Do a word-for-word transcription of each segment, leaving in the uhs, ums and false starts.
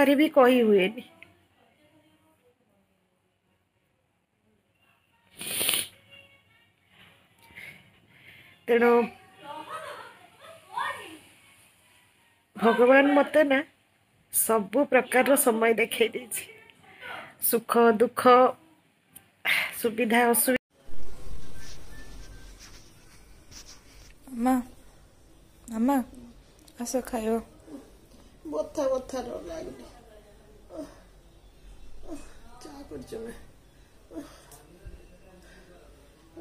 କଥାରେ ବି କହି ହୁଏନି। ତେଣୁ ଭଗବାନ ମୋତେ ନା ସବୁ ପ୍ରକାରର ସମୟ ଦେଖେଇ ଦେଇଛି, ସୁଖ ଦୁଃଖ, ସୁବିଧା ଅସୁବିଧା। ମାମା, ମାମା, ଆସ ଖାଇବ। ବଥା ବଥା ଲାଗୁନି। ଚା କରୁଛୁ ନା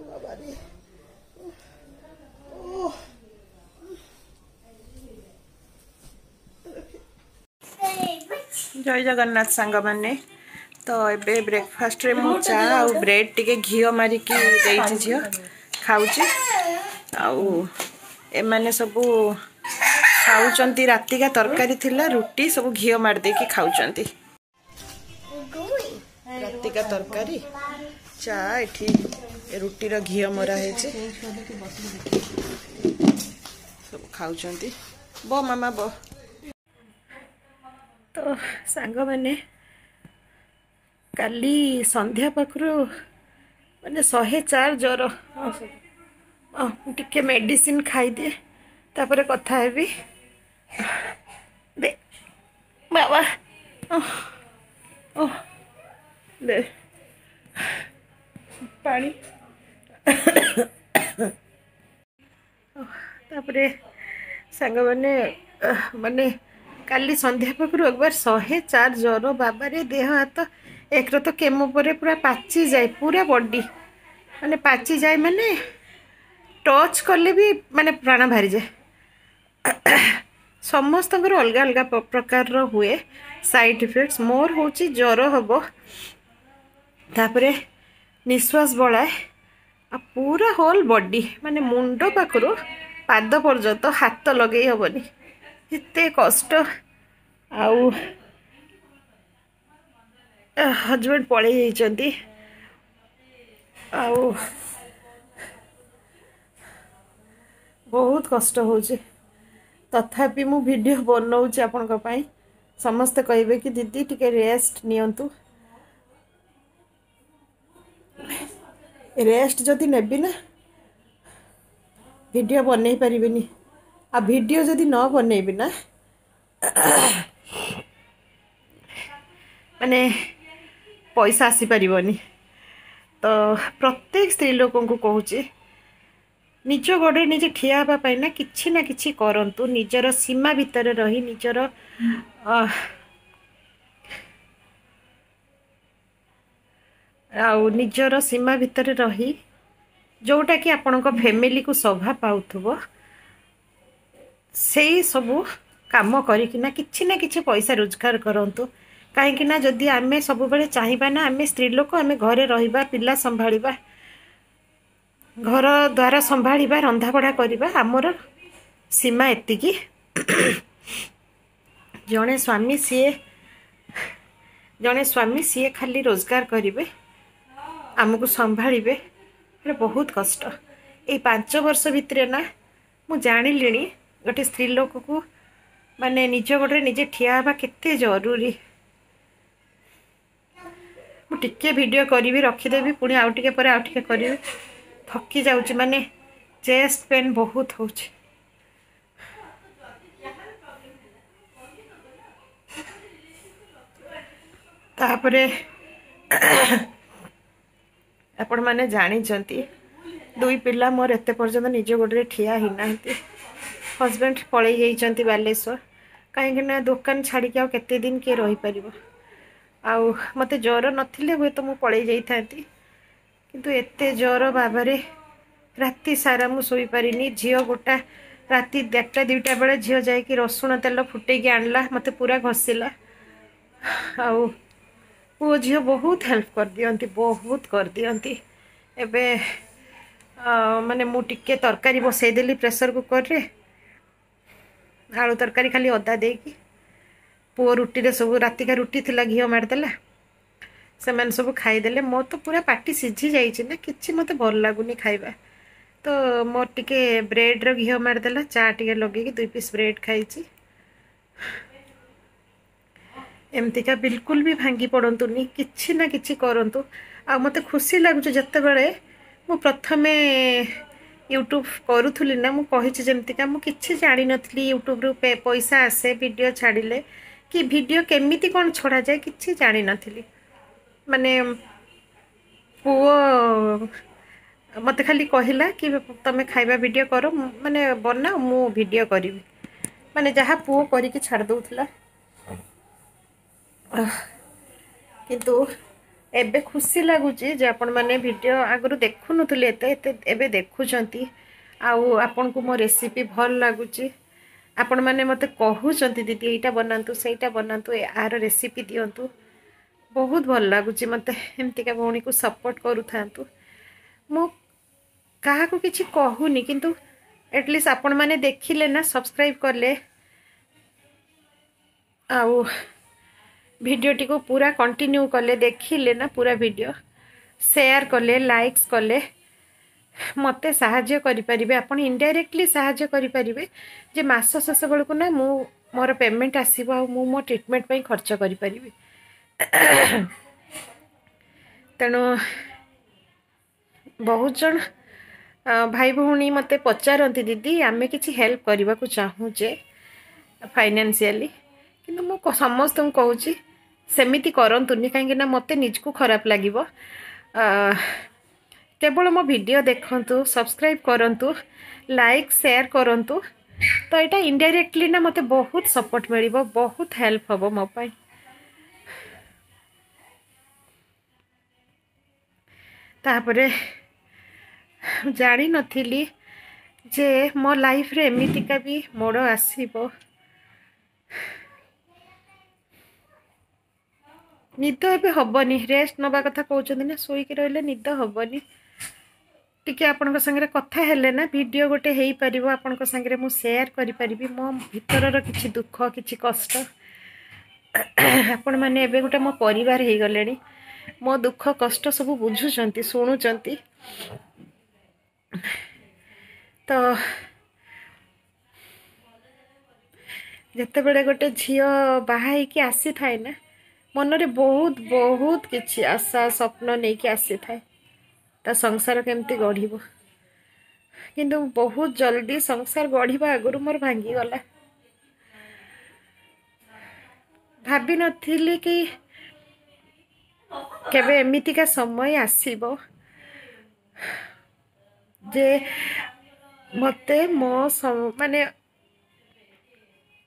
ବାବାରେ। ଓ ଜୟ ଜଗନ୍ନାଥ ସାଙ୍ଗମାନେ। ତ ଏବେ ବ୍ରେକଫାଷ୍ଟରେ ମୁଁ ଚା ଆଉ ବ୍ରେଡ୍ ଟିକେ ଘିଅ ମାରିକି ଦେଇଛି, ଝିଅ ଖାଉଛି। ଆଉ ଏମାନେ ସବୁ ଖାଉଛନ୍ତି, ରାତିକା ତରକାରୀ ଥିଲା, ରୁଟି ସବୁ ଘିଅ ମାରି ଦେଇକି ଖାଉଛନ୍ତି। ରାତିକା ତରକାରୀ, ଚା, ଏଠି ରୁଟିର ଘିଅ ମରା ହେଇଛି, ସବୁ ଖାଉଛନ୍ତି। ବ ମାମା ବ। ତ ସାଙ୍ଗମାନେ, କାଲି ସନ୍ଧ୍ୟା ପାଖରୁ ମାନେ ଶହେ ଚାରି ଜ୍ୱର। ମୁଁ ଟିକେ ମେଡ଼ିସିନ ଖାଇଦିଏ, ତାପରେ କଥା ହେବି। ଦେ ବାବା, ଓ ଦେ ପାଣି। ତାପରେ ସାଙ୍ଗମାନେ, ମାନେ କାଲି ସନ୍ଧ୍ୟା ପାଖରୁ ଏକବାର ଶହେ ଚାରି ଜ୍ୱର ବାବାରେ। ଦେହ ହାତ ଏକରେ ତ କେମୋ ପରେ ପୁରା ପାଚିଯାଏ, ପୁରା ବଡି ମାନେ ପାଚିଯାଏ, ମାନେ ଟଚ୍ କଲେ ବି ମାନେ ପ୍ରାଣ ବାହାରିଯାଏ। ସମସ୍ତଙ୍କର ଅଲଗା ଅଲଗା ପ୍ରକାରର ହୁଏ ସାଇଡ଼୍ ଇଫେକ୍ଟସ୍। ମୋର ହେଉଛି ଜ୍ୱର ହେବ, ତାପରେ ନିଶ୍ୱାସ ବଳାଏ, ଆଉ ପୁରା ହୋଲ୍ ବଡି ମାନେ ମୁଣ୍ଡ ପାଖରୁ ପାଦ ପର୍ଯ୍ୟନ୍ତ ହାତ ଲଗେଇ ହେବନି, ଏତେ କଷ୍ଟ। ଆଉ ହଜବେଣ୍ଡ ପଳେଇ ଯାଇଛନ୍ତି, ଆଉ ବହୁତ କଷ୍ଟ ହେଉଛି। ତଥାପି ମୁଁ ଭିଡ଼ିଓ ବନଉଛି ଆପଣଙ୍କ ପାଇଁ। ସମସ୍ତେ କହିବେ କି ଦିଦି ଟିକେ ରେଷ୍ଟ ନିଅନ୍ତୁ। ରେଷ୍ଟ ଯଦି ନେବି ନା, ଭିଡ଼ିଓ ବନେଇ ପାରିବିନି, ଆଉ ଭିଡ଼ିଓ ଯଦି ନ ବନେଇବି ନା, ମାନେ ପଇସା ଆସିପାରିବନି। ତ ପ୍ରତ୍ୟେକ ସ୍ତ୍ରୀ ଲୋକଙ୍କୁ କହୁଛି, ନିଜ ଗୋଡ଼ରେ ନିଜେ ଠିଆ ହେବା ପାଇଁ ନା କିଛି ନା କିଛି କରନ୍ତୁ, ନିଜର ସୀମା ଭିତରେ ରହି, ନିଜର ଆଉ ନିଜର ସୀମା ଭିତରେ ରହି ଯେଉଁଟାକି ଆପଣଙ୍କ ଫ୍ୟାମିଲିକୁ ଶୋଭା ପାଉଥିବ, ସେଇ ସବୁ କାମ କରିକିନା କିଛି ନା କିଛି ପଇସା ରୋଜଗାର କରନ୍ତୁ। କାହିଁକି ନା ଯଦି ଆମେ ସବୁବେଳେ ଚାହିଁବା ନା ଆମେ ସ୍ତ୍ରୀ ଲୋକ, ଆମେ ଘରେ ରହିବା, ପିଲା ସମ୍ଭାଳିବା, ଘର ଦ୍ୱାର ସମ୍ଭାଳିବା, ରନ୍ଧାବଢ଼ା କରିବା, ଆମର ସୀମା ଏତିକି। ଜଣେ ସ୍ୱାମୀ ସିଏ ଜଣେ ସ୍ୱାମୀ ସିଏ ଖାଲି ରୋଜଗାର କରିବେ, ଆମକୁ ସମ୍ଭାଳିବେ, ହେଲେ ବହୁତ କଷ୍ଟ। ଏଇ ପାଞ୍ଚ ବର୍ଷ ଭିତରେ ନା ମୁଁ ଜାଣିଲିଣି ଗୋଟେ ସ୍ତ୍ରୀ ଲୋକକୁ ମାନେ ନିଜ ଗୋଡ଼ରେ ନିଜେ ଠିଆ ହେବା କେତେ ଜରୁରୀ। ମୁଁ ଟିକେ ଭିଡ଼ିଓ କରିବି, ରଖିଦେବି, ପୁଣି ଆଉ ଟିକେ ପରେ ଆଉ ଟିକେ କରିବି। ଥକି ଯାଉଛି, ମାନେ ଚେଷ୍ଟ ପେନ୍ ବହୁତ ହେଉଛି। ତାପରେ ଆପଣମାନେ ଜାଣିଛନ୍ତି, ଦୁଇ ପିଲା ମୋର ଏତେ ପର୍ଯ୍ୟନ୍ତ ନିଜ ଗୋଡ଼ରେ ଠିଆ ହେଇନାହାନ୍ତି। ହଜବେଣ୍ଡ ପଳେଇ ଯାଇଛନ୍ତି ବାଲେଶ୍ୱର, କାହିଁକିନା ଦୋକାନ ଛାଡ଼ିକି ଆଉ କେତେ ଦିନ କିଏ ରହିପାରିବ। ଆଉ ମୋତେ ଜ୍ୱର ନଥିଲେ ହୁଏତ ମୁଁ ପଳେଇ ଯାଇଥାନ୍ତି, କିନ୍ତୁ ଏତେ ଜ୍ୱର ବାବାରେ, ରାତି ସାରା ମୁଁ ଶୋଇପାରିନି। ଝିଅ ଗୋଟା ରାତି ଦେଢ଼ଟା ଦୁଇଟା ବେଳେ ଝିଅ ଯାଇକି ରସୁଣ ତେଲ ଫୁଟେଇକି ଆଣିଲା, ମୋତେ ପୁରା ଘଷିଲା। ଆଉ ପୁଅ ଝିଅ ବହୁତ ହେଲ୍ପ କରିଦିଅନ୍ତି, ବହୁତ କରିଦିଅନ୍ତି। ଏବେ ମାନେ ମୁଁ ଟିକେ ତରକାରୀ ବସେଇଦେଲି ପ୍ରେସର କୁକରରେ, ଆଳୁ ତରକାରୀ ଖାଲି ଅଦା ଦେଇକି। ପୁଅ ରୁଟିରେ ସବୁ ରାତିକା ରୁଟି ଥିଲା ଘିଅ ମାରିଦେଲା, ସେମାନେ ସବୁ ଖାଇଦେଲେ। ମୋର ତ ପୁରା ପାଟି ସିଝି ଯାଇଛି ନା, କିଛି ମୋତେ ଭଲ ଲାଗୁନି ଖାଇବା। ତ ମୋର ଟିକେ ବ୍ରେଡ଼ର ଘିଅ ମାରିଦେଲା, ଚା ଟିକେ ଲଗେଇକି ଦୁଇ ପିସ୍ ବ୍ରେଡ଼ ଖାଇଛି। ଏମିତିକା ବିଲକୁଲ ବି ଭାଙ୍ଗି ପଡ଼ନ୍ତୁନି, କିଛି ନା କିଛି କରନ୍ତୁ। ଆଉ ମୋତେ ଖୁସି ଲାଗୁଛି, ଯେତେବେଳେ ମୁଁ ପ୍ରଥମେ ୟୁଟ୍ୟୁବ୍ କରୁଥିଲି ନା, ମୁଁ କହିଛି ଯେମିତିକା ମୁଁ କିଛି ଜାଣିନଥିଲି ୟୁଟ୍ୟୁବ୍ରୁ ପଇସା ଆସେ ଭିଡ଼ିଓ ଛାଡ଼ିଲେ କି ଭିଡ଼ିଓ କେମିତି କ'ଣ ଛଡ଼ାଯାଏ କିଛି ଜାଣିନଥିଲି। ମାନେ ପୁଅ ମୋତେ ଖାଲି କହିଲା କି ତମେ ଖାଇବା ଭିଡ଼ିଓ କର, ମାନେ ବନାଅ, ମୁଁ ଭିଡ଼ିଓ କରିବି। ମାନେ ଯାହା ପୁଅ କରିକି ଛାଡ଼ି ଦେଉଥିଲା। କିନ୍ତୁ ଏବେ ଖୁସି ଲାଗୁଛି ଯେ ଆପଣମାନେ ଭିଡ଼ିଓ ଆଗରୁ ଦେଖୁନଥିଲେ ଏତେ ଏତେ, ଏବେ ଦେଖୁଛନ୍ତି ଆଉ ଆପଣଙ୍କୁ ମୋ ରେସିପି ଭଲ ଲାଗୁଛି। ଆପଣମାନେ ମୋତେ କହୁଛନ୍ତି ଦିଦି ଏଇଟା ବନାନ୍ତୁ, ସେଇଟା ବନାନ୍ତୁ, ଆର ରେସିପି ଦିଅନ୍ତୁ। ବହୁତ ଭଲ ଲାଗୁଛି ମୋତେ। ଏମିତିକା ଭଉଣୀକୁ ସପୋର୍ଟ କରୁଥାନ୍ତୁ। ମୁଁ କାହାକୁ କିଛି କହୁନି, କିନ୍ତୁ ଆଟଲିଷ୍ଟ ଆପଣମାନେ ଦେଖିଲେ ନା, ସବସ୍କ୍ରାଇବ୍ କଲେ ଆଉ ଭିଡ଼ିଓଟିକୁ ପୁରା କଣ୍ଟିନ୍ୟୁ କଲେ, ଦେଖିଲେ ନା ପୁରା ଭିଡ଼ିଓ, ସେୟାର କଲେ, ଲାଇକ୍ସ କଲେ, ମୋତେ ସାହାଯ୍ୟ କରିପାରିବେ। ଆପଣ ଇନଡାଇରେକ୍ଟଲି ସାହାଯ୍ୟ କରିପାରିବେ ଯେ ମାସ ଶେଷ ବେଳକୁ ନା ମୁଁ ମୋର ପେମେଣ୍ଟ ଆସିବ ଆଉ ମୁଁ ମୋ ଟ୍ରିଟମେଣ୍ଟ ପାଇଁ ଖର୍ଚ୍ଚ କରିପାରିବି। ତେଣୁ ବହୁତ ଜଣ ଭାଇ ଭଉଣୀ ମୋତେ ପଚାରନ୍ତି, ଦିଦି ଆମେ କିଛି ହେଲ୍ପ କରିବାକୁ ଚାହୁଁଛେ ଫାଇନାନ୍ସିଆଲି। କିନ୍ତୁ ମୁଁ ସମସ୍ତଙ୍କୁ କହୁଛି ସେମିତି କରନ୍ତୁନି, କାହିଁକିନା ମୋତେ ନିଜକୁ ଖରାପ ଲାଗିବ। କେବଳ ମୋ ଭିଡ଼ିଓ ଦେଖନ୍ତୁ, ସବସ୍କ୍ରାଇବ୍ କରନ୍ତୁ, ଲାଇକ୍ ସେୟାର କରନ୍ତୁ। ତ ଏଇଟା ଇନଡାଇରେକ୍ଟଲି ନା ମୋତେ ବହୁତ ସପୋର୍ଟ ମିଳିବ, ବହୁତ ହେଲ୍ପ ହେବ ମୋ ପାଇଁ। ତାପରେ ଜାଣିନଥିଲି ଯେ ମୋ ଲାଇଫ୍ରେ ଏମିତିକା ବି ମୋଡ଼ ଆସିବ। ନିଦ ଏବେ ହେବନି, ରେଷ୍ଟ ନେବା କଥା କହୁଛନ୍ତି ନା, ଶୋଇକି ରହିଲେ ନିଦ ହେବନି। ଟିକେ ଆପଣଙ୍କ ସାଙ୍ଗରେ କଥା ହେଲେ ନା ଭିଡ଼ିଓ ଗୋଟେ ହେଇପାରିବ, ଆପଣଙ୍କ ସାଙ୍ଗରେ ମୁଁ ସେୟାର କରିପାରିବି ମୋ ଭିତରର କିଛି ଦୁଃଖ, କିଛି କଷ୍ଟ। ଆପଣମାନେ ଏବେ ଗୋଟେ ମୋ ପରିବାର ହେଇଗଲେଣି, ମୋ ଦୁଃଖ କଷ୍ଟ ସବୁ ବୁଝୁଛନ୍ତି, ଶୁଣୁଛନ୍ତି। ତ ଯେତେବେଳେ ଗୋଟେ ଝିଅ ବାହା ହେଇକି ଆସିଥାଏ ନା, ମନରେ ବହୁତ ବହୁତ କିଛି ଆଶା ସ୍ୱପ୍ନ ନେଇକି ଆସିଥାଏ ତା ସଂସାର କେମିତି ଗଢ଼ିବ। କିନ୍ତୁ ବହୁତ ଜଲ୍ଦି ସଂସାର ଗଢ଼ିବା ଆଗରୁ ମୋର ଭାଙ୍ଗିଗଲା। ଭାବିନଥିଲି କି କେବେ ଏମିତିକା ସମୟ ଆସିବ ଯେ ମୋତେ ମୋ ମାନେ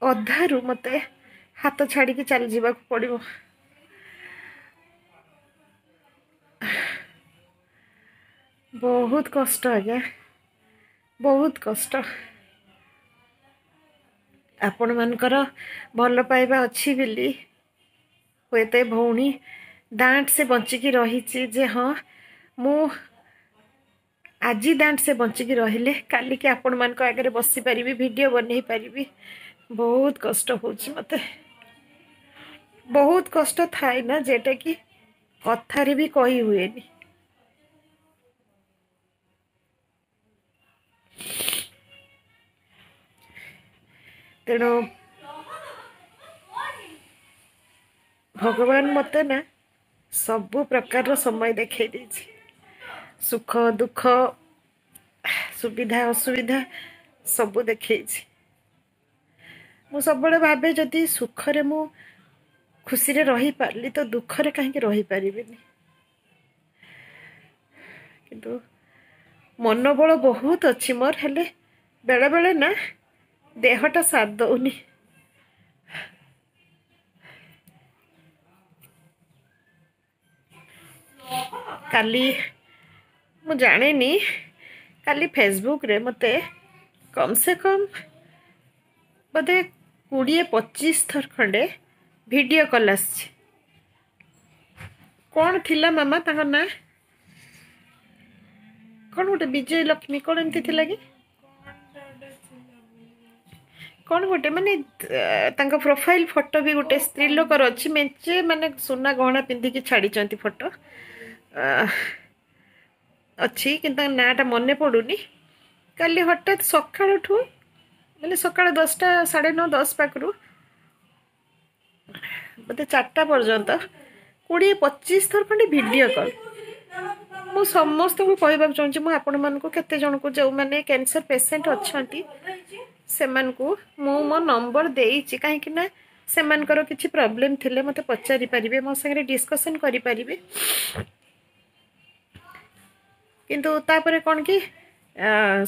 ଅଧାରୁ ମୋତେ ହାତ ଛାଡ଼ିକି ଚାଲିଯିବାକୁ ପଡ଼ିବ। ବହୁତ କଷ୍ଟ ଆଜ୍ଞା, ବହୁତ କଷ୍ଟ। ଆପଣମାନଙ୍କର ଭଲ ପାଇବା ଅଛି ବୋଲି ହୁଏତ ଏ ଭଉଣୀ ଦାଣ୍ଟ ସେ ବଞ୍ଚିକି ରହିଛି ଯେ ହଁ ମୁଁ ଆଜି ଦାଣ୍ଟ ସେ ବଞ୍ଚିକି ରହିଲେ କାଲିକି ଆପଣମାନଙ୍କ ଆଗରେ ବସିପାରିବି, ଭିଡ଼ିଓ ବନେଇ ପାରିବି। ବହୁତ କଷ୍ଟ ହେଉଛି ମୋତେ, ବହୁତ କଷ୍ଟ ଥାଏ ନା ଯେଟାକି କଥାରେ ବି କହି ହୁଏନି। ତେଣୁ ଭଗବାନ ମୋତେ ନା ସବୁ ପ୍ରକାରର ସମୟ ଦେଖେଇ ଦେଇଛି, ସୁଖ ଦୁଃଖ ସୁବିଧା ଅସୁବିଧା ସବୁ ଦେଖେଇଛି। ମୁଁ ସବୁବେଳେ ଭାବେ ଯଦି ସୁଖରେ ମୁଁ ଖୁସିରେ ରହିପାରିଲି ତ ଦୁଃଖରେ କାହିଁକି ରହିପାରିବିନି। କିନ୍ତୁ ମନୋବଳ ବହୁତ ଅଛି ମୋର, ହେଲେ ବେଳେବେଳେ ନା ଦେହଟା ସାଥ ଦେଉନି। କାଲି ମୁଁ ଜାଣିନି, କାଲି ଫେସବୁକ୍ରେ ମୋତେ କମ୍ ସେ କମ୍ ବୋଧେ କୋଡ଼ିଏ ପଚିଶ ଥର ଖଣ୍ଡେ ଭିଡ଼ିଓ କଲ୍ ଆସିଛି। କ'ଣ ଥିଲା ମାମା ତାଙ୍କ ନାଁ? କ'ଣ ଗୋଟେ ବିଜୟ ଲକ୍ଷ୍ମୀ କ'ଣ ଏମିତି ଥିଲା କି କ'ଣ ଗୋଟେ, ମାନେ ତାଙ୍କ ପ୍ରୋଫାଇଲ୍ ଫଟୋ ବି ଗୋଟେ ସ୍ତ୍ରୀ ଲୋକର ଅଛି, ମେଞ୍ଚେ ମାନେ ସୁନା ଗହଣା ପିନ୍ଧିକି ଛାଡ଼ିଛନ୍ତି ଫଟୋ ଅଛି, କିନ୍ତୁ ତାଙ୍କ ନାଁଟା ମନେ ପଡ଼ୁନି। କାଲି ହଠାତ୍ ସକାଳଠୁ ମାନେ ସକାଳ ଦଶଟା ସାଢ଼େ ନଅ ଦଶ ପାଖରୁ ବୋଧେ ଚାରିଟା ପର୍ଯ୍ୟନ୍ତ କୋଡ଼ିଏ ପଚିଶ ଥର ଖଣ୍ଡେ ଭିଡ଼ିଓ କଲ୍। ମୁଁ ସମସ୍ତଙ୍କୁ କହିବାକୁ ଚାହୁଁଛି, ମୁଁ ଆପଣମାନଙ୍କୁ କେତେ ଜଣଙ୍କୁ ଯେଉଁମାନେ କ୍ୟାନ୍ସର ପେସେଣ୍ଟ ଅଛନ୍ତି ସେମାନଙ୍କୁ ମୁଁ ମୋ ନମ୍ବର ଦେଇଛି, କାହିଁକି ନା ସେମାନଙ୍କର କିଛି ପ୍ରୋବ୍ଲେମ୍ ଥିଲେ ମୋତେ ପଚାରି ପାରିବେ, ମୋ ସାଙ୍ଗରେ ଡିସ୍କସନ୍ କରିପାରିବେ। କିନ୍ତୁ ତାପରେ କ'ଣ କି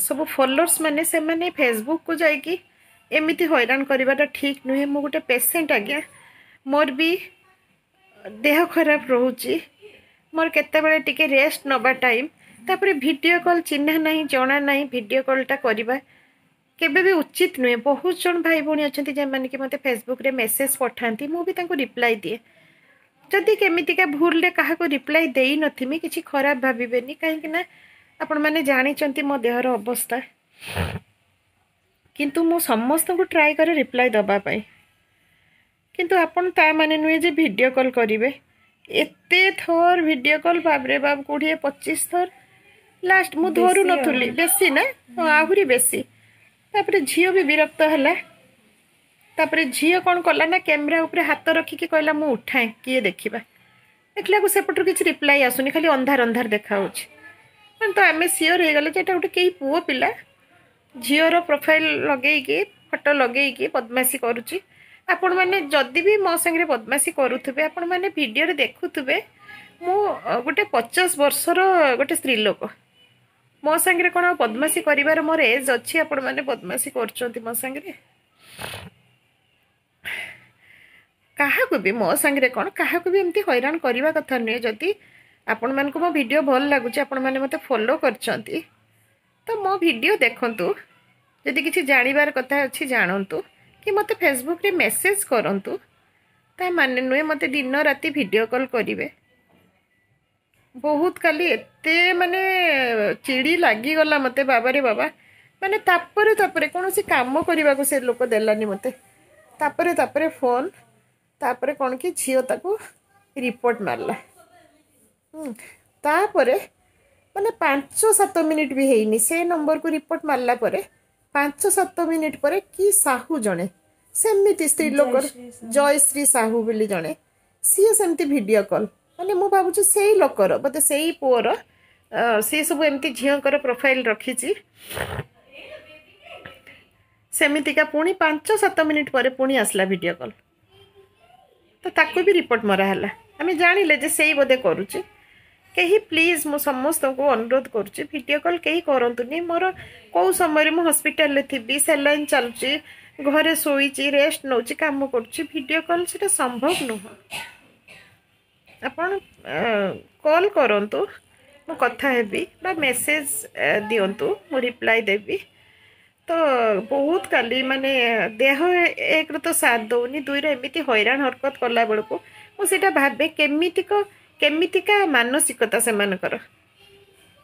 ସବୁ ଫଲୋଅର୍ସ ମାନେ ସେମାନେ ଫେସବୁକ୍କୁ ଯାଇକି ଏମିତି ହଇରାଣ କରିବାଟା ଠିକ୍ ନୁହେଁ। ମୁଁ ଗୋଟେ ପେସେଣ୍ଟ ଆଜ୍ଞା, ମୋର ବି ଦେହ ଖରାପ ରହୁଛି, ମୋର କେତେବେଳେ ଟିକେ ରେଷ୍ଟ ନେବା ଟାଇମ୍, ତାପରେ ଭିଡ଼ିଓ କଲ୍ ଚିହ୍ନା ନାହିଁ ଜଣା ନାହିଁ, ଭିଡ଼ିଓ କଲ୍ଟା କରିବା କେବେ ବି ଉଚିତ ନୁହେଁ। ବହୁତ ଜଣ ଭାଇ ଭଉଣୀ ଅଛନ୍ତି ଯେଉଁମାନେ କି ମୋତେ ଫେସବୁକ୍ରେ ମେସେଜ୍ ପଠାନ୍ତି, ମୁଁ ବି ତାଙ୍କୁ ରିପ୍ଲାଏ ଦିଏ। ଯଦି କେମିତିକା ଭୁଲରେ କାହାକୁ ରିପ୍ଲାଏ ଦେଇନଥିମି କିଛି ଖରାପ ଭାବିବେନି, କାହିଁକି ନା ଆପଣମାନେ ଜାଣିଛନ୍ତି ମୋ ଦେହର ଅବସ୍ଥା। କିନ୍ତୁ ମୁଁ ସମସ୍ତଙ୍କୁ ଟ୍ରାଏ କରେ ରିପ୍ଲାଏ ଦେବା ପାଇଁ, କିନ୍ତୁ ଆପଣ ତା ମାନେ ନୁହେଁ ଯେ ଭିଡ଼ିଓ କଲ୍ କରିବେ। ଏତେ ଥର ଭିଡ଼ିଓ କଲ୍, ବାପରେ ବାପ, କୋଡ଼ିଏ ପଚିଶ ଥର ଲାଷ୍ଟ ମୁଁ ଧରୁନଥିଲି, ବେଶୀ ନା ହଁ ଆହୁରି ବେଶୀ। ତାପରେ ଝିଅ ବି ବିରକ୍ତ ହେଲା। ତାପରେ ଝିଅ କ'ଣ କଲା ନା କ୍ୟାମେରା ଉପରେ ହାତ ରଖିକି କହିଲା ମୁଁ ଉଠାଏ କିଏ ଦେଖିବା। ଦେଖିଲାକୁ ସେପଟରୁ କିଛି ରିପ୍ଲାଏ ଆସୁନି, ଖାଲି ଅନ୍ଧାର ଅନ୍ଧାର ଦେଖାହେଉଛି। ମାନେ ତ ଆମେ ସିଓର ହେଇଗଲେ ଯେ ଏଇଟା ଗୋଟେ କେହି ପୁଅ ପିଲା ଝିଅର ପ୍ରୋଫାଇଲ୍ ଲଗେଇକି ଫଟୋ ଲଗେଇକି ବଦମାସି କରୁଛି। ଆପଣମାନେ ଯଦି ବି ମୋ ସାଙ୍ଗରେ ବଦମାସି କରୁଥିବେ, ଆପଣମାନେ ଭିଡ଼ିଓରେ ଦେଖୁଥିବେ, ମୁଁ ଗୋଟେ ପଚାଶ ବର୍ଷର ଗୋଟେ ସ୍ତ୍ରୀ ଲୋକ, ମୋ ସାଙ୍ଗରେ କ'ଣ ବଦମାସି କରିବାର ମୋର ଏଜ୍ ଅଛି? ଆପଣମାନେ ବଦମାସି କରୁଛନ୍ତି ମୋ ସାଙ୍ଗରେ। କାହାକୁ ବି ମୋ ସାଙ୍ଗରେ କ'ଣ କାହାକୁ ବି ଏମିତି ହଇରାଣ କରିବା କଥା ନୁହେଁ। ଯଦି ଆପଣମାନଙ୍କୁ ମୋ ଭିଡ଼ିଓ ଭଲ ଲାଗୁଛି, ଆପଣମାନେ ମୋତେ ଫଲୋ କରିଛନ୍ତି, ତ ମୋ ଭିଡ଼ିଓ ଦେଖନ୍ତୁ, ଯଦି କିଛି ଜାଣିବାର କଥା ଅଛି ଜାଣନ୍ତୁ, କି ମୋତେ ଫେସବୁକ୍ରେ ମେସେଜ୍ କରନ୍ତୁ। ତା ମାନେ ନୁହେଁ ମୋତେ ଦିନ ରାତି ଭିଡ଼ିଓ କଲ୍ କରିବେ। ବହୁତ କାଲି ଏତେ ମାନେ ଚିଡ଼ି ଲାଗିଗଲା ମୋତେ, ବାବାରେ ବାବା। ମାନେ ତାପରେ ତାପରେ କୌଣସି କାମ କରିବାକୁ ସେ ଲୋକ ଦେଲାନି ମୋତେ। ତାପରେ ତାପରେ ଫୋନ୍, ତାପରେ କ'ଣ କି ଝିଅ ତାକୁ ରିପୋର୍ଟ ମାରିଲା। ତାପରେ ମାନେ ପାଞ୍ଚ ସାତ ମିନିଟ୍ ବି ହେଇନି, ସେ ନମ୍ବରକୁ ରିପୋର୍ଟ ମାରିଲା ପରେ ପାଞ୍ଚ ସାତ ମିନିଟ୍ ପରେ କି ସାହୁ ଜଣେ ସେମିତି ସ୍ତ୍ରୀ ଲୋକର, ଜୟଶ୍ରୀ ସାହୁ ବୋଲି ଜଣେ, ସିଏ ସେମିତି ଭିଡ଼ିଓ କଲ୍, ମାନେ ମୁଁ ଭାବୁଛି ସେଇ ଲୋକର ବୋଧେ ସେଇ ପୁଅର, ସିଏ ସବୁ ଏମିତି ଝିଅଙ୍କର ପ୍ରୋଫାଇଲ୍ ରଖିଛି। ସେମିତିକା ପୁଣି ପାଞ୍ଚ ସାତ ମିନିଟ୍ ପରେ ପୁଣି ଆସିଲା ଭିଡ଼ିଓ କଲ୍, ତ ତାକୁ ବି ରିପୋର୍ଟ ମରା ହେଲା। ଆମେ ଜାଣିଲେ ଯେ ସେଇ ବୋଧେ କରୁଛି। କେହି ପ୍ଲିଜ୍ ମୁଁ ସମସ୍ତଙ୍କୁ ଅନୁରୋଧ କରୁଛି, ଭିଡ଼ିଓ କଲ୍ କେହି କରନ୍ତୁନି। ମୋର କେଉଁ ସମୟରେ ମୁଁ ହସ୍ପିଟାଲରେ ଥିବି, ସାଲାଇନ୍ ଚାଲୁଛି, ଘରେ ଶୋଇଛି, ରେଷ୍ଟ ନେଉଛି, କାମ କରୁଛି, ଭିଡ଼ିଓ କଲ୍ ସେଇଟା ସମ୍ଭବ ନୁହଁ। ଆପଣ କଲ୍ କରନ୍ତୁ, ମୁଁ କଥା ହେବି, ବା ମେସେଜ୍ ଦିଅନ୍ତୁ, ମୁଁ ରିପ୍ଲାଏ ଦେବି। ତ ବହୁତ କାଲି ମାନେ ଦେହ ଏକରେ ତ ସାଥ ଦେଉନି, ଦୁଇରେ ଏମିତି ହଇରାଣ ହରକତ କଲା ବେଳକୁ ମୁଁ ସେଇଟା ଭାବେ କେମିତିକ କେମିତିକା ମାନସିକତା ସେମାନଙ୍କର।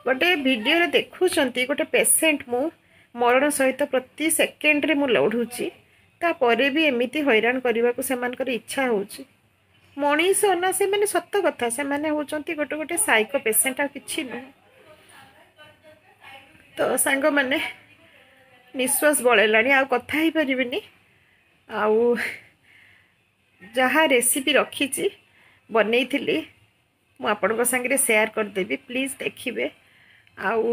ଗୋଟେ ଭିଡ଼ିଓରେ ଦେଖୁଛନ୍ତି ଗୋଟେ ପେସେଣ୍ଟ, ମୁଁ ମରଣ ସହିତ ପ୍ରତି ସେକେଣ୍ଡରେ ମୁଁ ଲଢ଼ୁଛି, ତାପରେ ବି ଏମିତି ହଇରାଣ କରିବାକୁ ସେମାନଙ୍କର ଇଚ୍ଛା ହେଉଛି। ମଣିଷ ନା ସେମାନେ, ସତ କଥା ସେମାନେ ହେଉଛନ୍ତି ଗୋଟେ ଗୋଟେ ସାଇକୋ ପେସେଣ୍ଟ, ଆଉ କିଛି ନୁହେଁ। ତ ସାଙ୍ଗମାନେ, ନିଶ୍ୱାସ ବଳେଇଲାଣି, ଆଉ କଥା ହେଇପାରିବିନି। ଆଉ ଯାହା ରେସିପି ରଖିଛି ବନେଇଥିଲି ମୁଁ ଆପଣଙ୍କ ସାଙ୍ଗରେ ସେୟାର କରିଦେବି, ପ୍ଲିଜ୍ ଦେଖିବେ। ଆଉ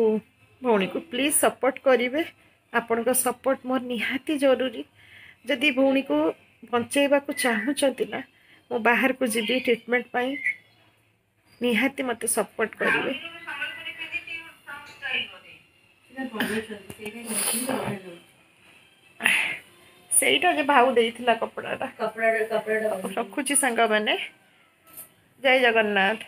ଭଉଣୀକୁ ପ୍ଲିଜ୍ ସପୋର୍ଟ କରିବେ, ଆପଣଙ୍କ ସପୋର୍ଟ ମୋର ନିହାତି ଜରୁରୀ। ଯଦି ଭଉଣୀକୁ ବଞ୍ଚେଇବାକୁ ଚାହୁଁଛନ୍ତି ନା, ମୁଁ ବାହାରକୁ ଯିବି ଟ୍ରିଟମେଣ୍ଟ ପାଇଁ, ନିହାତି ମୋତେ ସପୋର୍ଟ କରିବେ। ସେଇଟା ଯେ ଭାଉ ଦେଇଥିଲା କପଡ଼ାଟା। ରଖୁଛି ସାଙ୍ଗମାନେ, ଜୟ ଜଗନ୍ନାଥ।